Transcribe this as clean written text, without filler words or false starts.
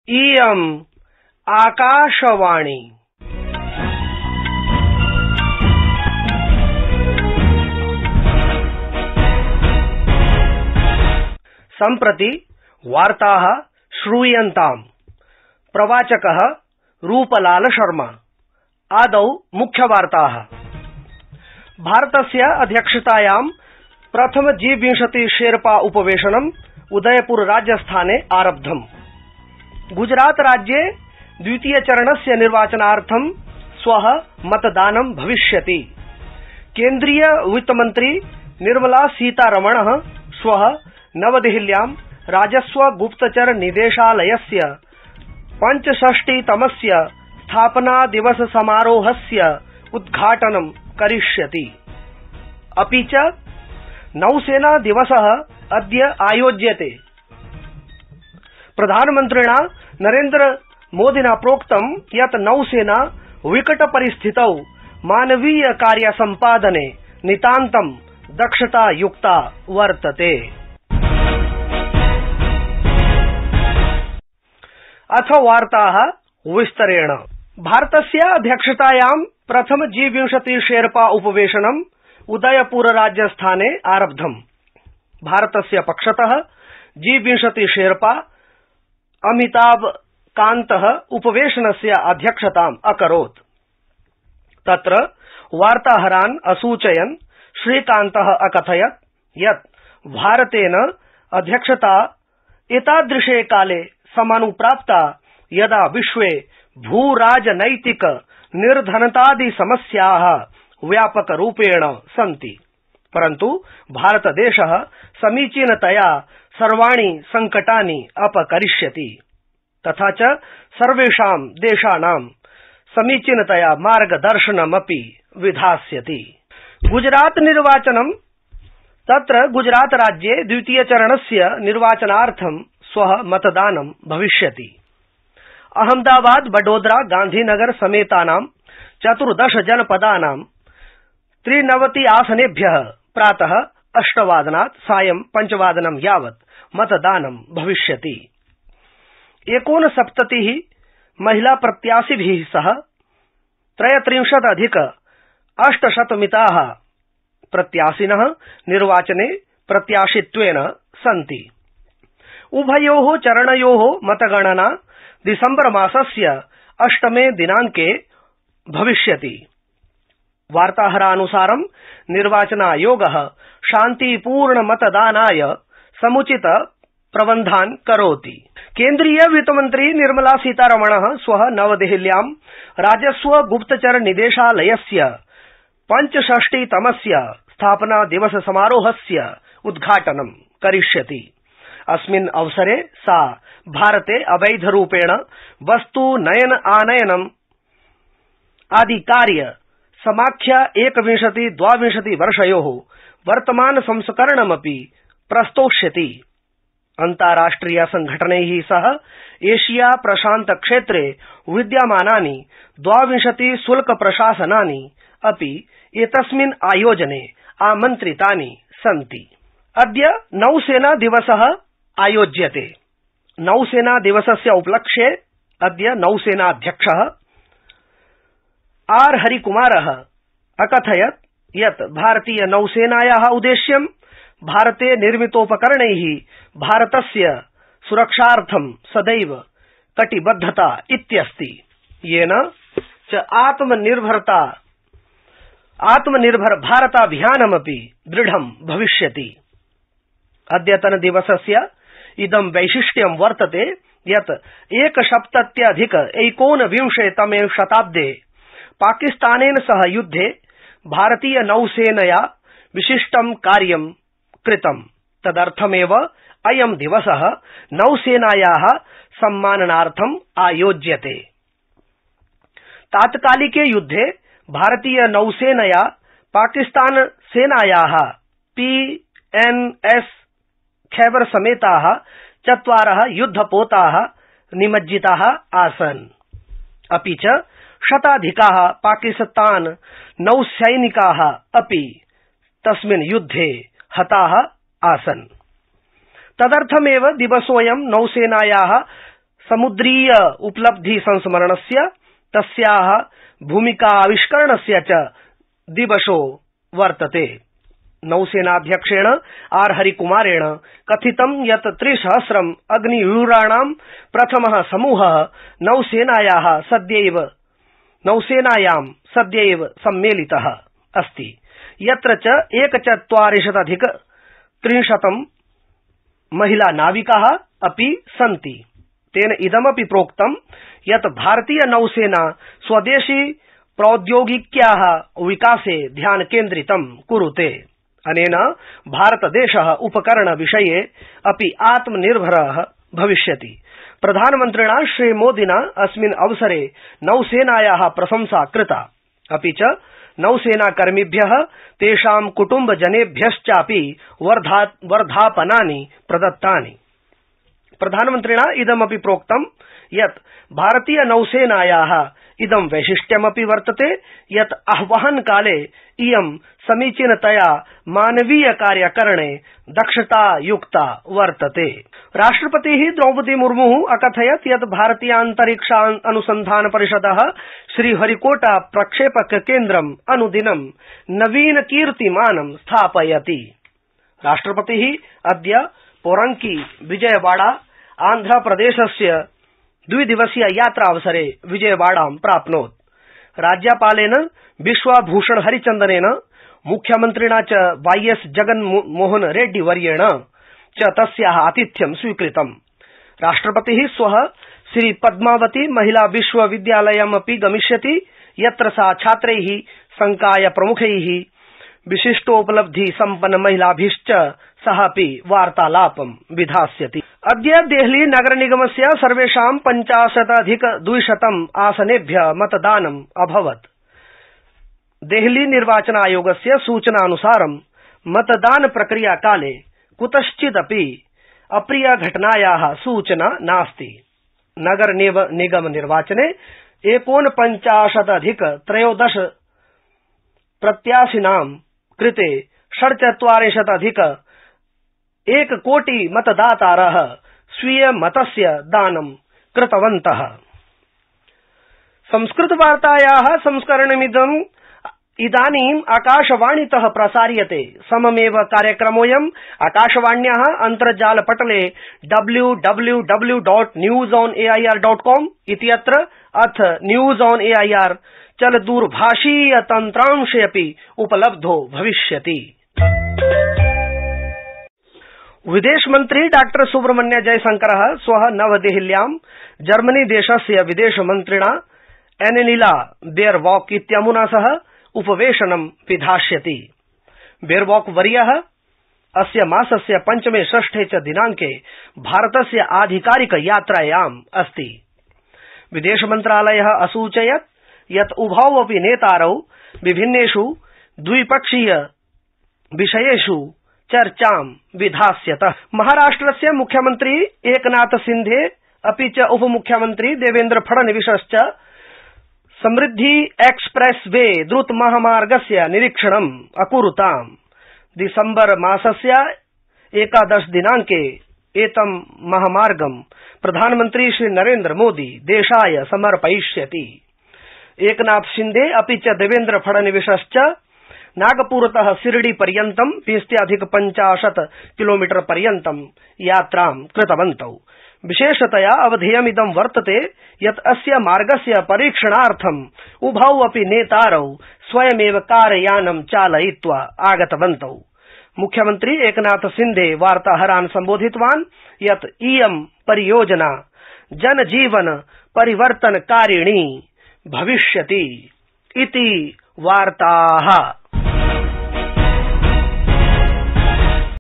इयम् आकाशवाणी। सम्प्रति वार्ताः श्रूयन्ताम्। प्रवाचकः रूपलाल शर्मा। आदौ मुख्यवार्ताः। भारतस्य अध्यक्षतायां प्रथम G20 शेर्पा उपवेशनम् उदयपुर राजस्थाने आरब्धम्। गुजरात राज्ये द्वितीय चरणस्य निर्वाचनार्थं श्वः मतदानं भविष्यति। केन्द्रीय वित्तमन्त्री निर्मला सीतारमणः श्वः नवदेहल्यां राजस्व गुप्तचर निदेशालयस्य 65तमस्य स्थापना दिवस समारोहस्य उद्घाटनं करिष्यति। अपि च नौसेना दिवसः अद्य आयोज्यते। प्रधानमन्त्रिणा नरेन्द्र मोदिना प्रोक्तं यत् नौसेना विकट परिस्थितौ मानवीय कार्य सम्पादने नितान्तं दक्षतायुक्ता वर्तते। अथ वार्ताः विस्तरेण। भारतस्य अध्यक्षतायां प्रथम G20 शेर्पा उपवेशनम् उदयपुर राजस्थाने आरब्धम्। भारतस्य पक्षतः G20 शेर्पा अमिताभ कान्तः उपवेशनस्य अध्यक्षताम् अकरोत्। तत्र वार्ताहरान् असूचयन् श्रीकान्तः अकथयत् यत् भारतेन अध्यक्षता एतादृशे काले समानुप्राप्ता यदा विश्वे भूराजनैतिक निर्धनतादि समस्याः व्यापकरूपेण सन्ति, परन्तु भारतदेशः समीचीनतया सर्वाणि संकटानि अपकरिष्यति तथा च सर्वेषां देशानां समीचीनतया मार्गदर्शनमपि विधास्यति। गुजरात निर्वाचनं। तत्र गुजरात राज्ये द्वितीय चरणस्य निर्वाचनार्थं श्वः मतदानं भविष्यति। अहमदाबाद, वडोदरा, गांधीनगर समेतानां 14 जनपदानां 93 आसनेभ्यः प्रातः 8 वादनात् सायं 5 वादनं यावत् मतदानं भविष्यति। 69 महिला प्रत्याशिभिः सह 33,800 मिताः प्रत्याशिनः निर्वाचने प्रत्याशित्वेन सन्ति। उभयोः चरणयोः मतगणना दिसम्बर मासस्य 8 दिनाङ्के भविष्यति। वार्ताहरानुसारं निर्वाचनायोगः शान्तिपूर्ण मतदानाय समुचित प्रबन्धान् करोति। केन्द्रीय वित्तमन्त्री निर्मला सीतारमणः श्वः नवदेहल्यां राजस्व गुप्तचर निदेशालयस्य 65तमस्य स्थापना दिवस समारोहस्य उद्घाटनं करिष्यति। अस्मिन् अवसरे सा भारते अवैधरूपेण वस्तु नयन आनयनम् आदि कार्य समाख्य 21-22 वर्षयोः वर्तमान संस्करणमपि प्रस्तोष्यति। अन्ताराष्ट्रिय संघटनैः सह एशिया प्रशान्त क्षेत्रे विद्यमानानि 22 शुल्क प्रशासनानि अपि एतस्मिन् आयोजने आमन्त्रितानि सन्ति। अद्य नौसेना दिवसः आयोज्यते। नौसेना दिवसस्य उपलक्ष्ये अद्य नौसेनाध्यक्षः आर हरिकुमारः अकथयत् यत् भारतीय नौसेनायाः उद्देश्यं भारते निर्मितोपकरणैः भारतस्य सुरक्षार्थं सदैव कटिबद्धता इत्यस्ति, येन च आत्मनिर्भर भारताभियानमपि दृढं भविष्यति। अद्यतन दिवसस्य इदं वैशिष्ट्यं वर्तते यत् 1,70,19 शताब्दे पाकिस्तानेन सह युद्धे भारतीय नौसेनया विशिष्टं कार्यं कृतं। तदर्थमेव अयं दिवसः नौसेनायाः सम्माननार्थम् आयोज्यते। तात्कालिके युद्धे भारतीय नौसेनया पाकिस्तान सेनायाः PNS खैबर समेताः 4 युद्धपोताः निमज्जिताः आसन्। अपि च शताधिकाः पाकिस्तान नौसैनिकाः अपि तस्मिन् युद्धे हताः आसन्। तदर्थमेव दिवसोऽयं नौसेनायाः समुद्रीय उपलब्धि संस्मरणस्य तस्याः भूमिकाविष्करणस्य च दिवसो वर्तते। नौसेनाध्यक्षेण आर हरिकुमारेण कथितं यत् 3,000 अग्निवीराणां प्रथमः समूहः नौसेनायां सद्यैव सम्मेलितः अस्ति, यत्र च 1,40,30 महिला नाविकाः अपि सन्ति। तेन इदमपि प्रोक्तं यत् भारतीय नौसेना स्वदेशी प्रौद्योगिक्याः विकासे ध्यानकेन्द्रितं कुरुते। अनेन भारतदेशः उपकरण विषये अपि आत्मनिर्भरः भविष्यति। प्रधानमन्त्रिणा श्रीमोदिना अस्मिन् अवसरे नौसेनायाः प्रशंसा कृता, अपि च नौसेनाकर्मिभ्यः तेषां कुटुम्बजनेभ्यश्चापि वर्धापनानि प्रदत्तानि। प्रधानमन्त्रिणा इदमपि प्रोक्तं यत् भारतीय नौसेनायाः इदं वैशिष्ट्यमपि वर्तते यत् आह्वानकाले इयं समीचीनतया मानवीय कार्यकरणे दक्षतायुक्ता वर्तते। राष्ट्रपतिः द्रौपदी मुर्मुः अकथयत् यत् भारतीयान्तरिक्ष अनुसन्धान परिषदः श्रीहरिकोटा प्रक्षेपक केन्द्रम् अनुदिनं नवीन कीर्तिमानं स्थापयति। राष्ट्रपतिः अद्य पोरंकी विजयवाड़ा आन्ध्रप्रदेशस्य 2 दिवसीय यात्रावसरे विजयवाड़ां प्राप्नोत्। राज्यपालेन बिश्वभूषण हरिचन्दनेन मुख्यमन्त्रिणा च वाईएस जगन्मोहन रेड्डी वर्येण च तस्याः आतिथ्यं स्वीकृतम्। राष्ट्रपतिः श्वः श्रीपद्मावती महिला विश्वविद्यालयमपि गमिष्यति, यत्र सा छात्रैः संकाय प्रमुखैः विशिष्टोपलब्धि सम्पन्न महिलाभिश्च सह अपि वार्तालापं विधास्यति। अद्य देहली नगर निगमस्य सर्वेषां 50,200 आसनेभ्यः मतदानम् अभवत्। देहली निर्वाचन आयोगस्य सूचनानुसारं मतदान प्रक्रिया काले कुतश्चिदपि अप्रिय घटनायाः सूचना नास्ति। नगर निगम निर्वाचने 49,013 प्रत्याशिनां कृते 46,01 कोटि मतदातारः स्वीय मतस्य दानं कृतवन्तः। संस्कृतवार्तायाः संस्करणमिदं इदानीम् आकाशवाणीतः प्रसार्यते। सममेव कार्यक्रमोऽयम् आकाशवाण्याः अन्तर्जालपटले www.newsonair.com इत्यत्र अथ न्यूज ऑन एआईआर चलदूरभाषीय तन्त्रांशे अपि उपलब्धो भविष्यति। विदेशमन्त्री डॉ सुब्रह्मण्य जयशंकरः श्वः नवदेहल्यां जर्मनी देशस्य विदेशमन्त्रिणा एनेलिला बेयरबॉक इत्यमुना सह उपवेशनं विधास्यति। बेयरबॉक वर्यः अस्य मासस्य 5मे 6 च दिनांके भारतस्य आधिकारिक यात्रायाम् अस्ति। विदेशमन्त्रालयः असूचयत् यत् उभौ अपि नेतारौ विभिन्नेषु द्विपक्षीय विषयेषु चर्चां विधास्यतः। महाराष्ट्रस्य मुख्यमन्त्री एकनाथ सिन्धे अपि च उपमुख्यमन्त्री देवेन्द्र फडणवीसश्च समृद्धि एक्सप्रेस वे द्रुत महामार्गस्य निरीक्षणम् अकुरुताम्। दिसम्बर मासस्य 11 दिनांके एतं महामार्गं प्रधानमन्त्री श्री नरेन्द्र मोदी देशाय समर्पयिष्यति। एकनाथ शिंदे अपि च देवेन्द्र फडणवीसश्च नागपुरतः शिरडी पर्यन्तं 20+ किलोमीटर पर्यन्तं यात्रां कृतवन्तौ। विशेषतया अवधेयमिदं वर्तते यत् अस्य मार्गस्य परीक्षणार्थम् उभौ अपि नेतारौ स्वयमेव कारयानं चालयित्वा आगतवन्तौ। मुख्यमन्त्री एकनाथ सिन्धे वार्ताहरान् सम्बोधितवान् यत् इयं परियोजना जनजीवन परिवर्तनकारिणी भविष्यति इति वार्ताः।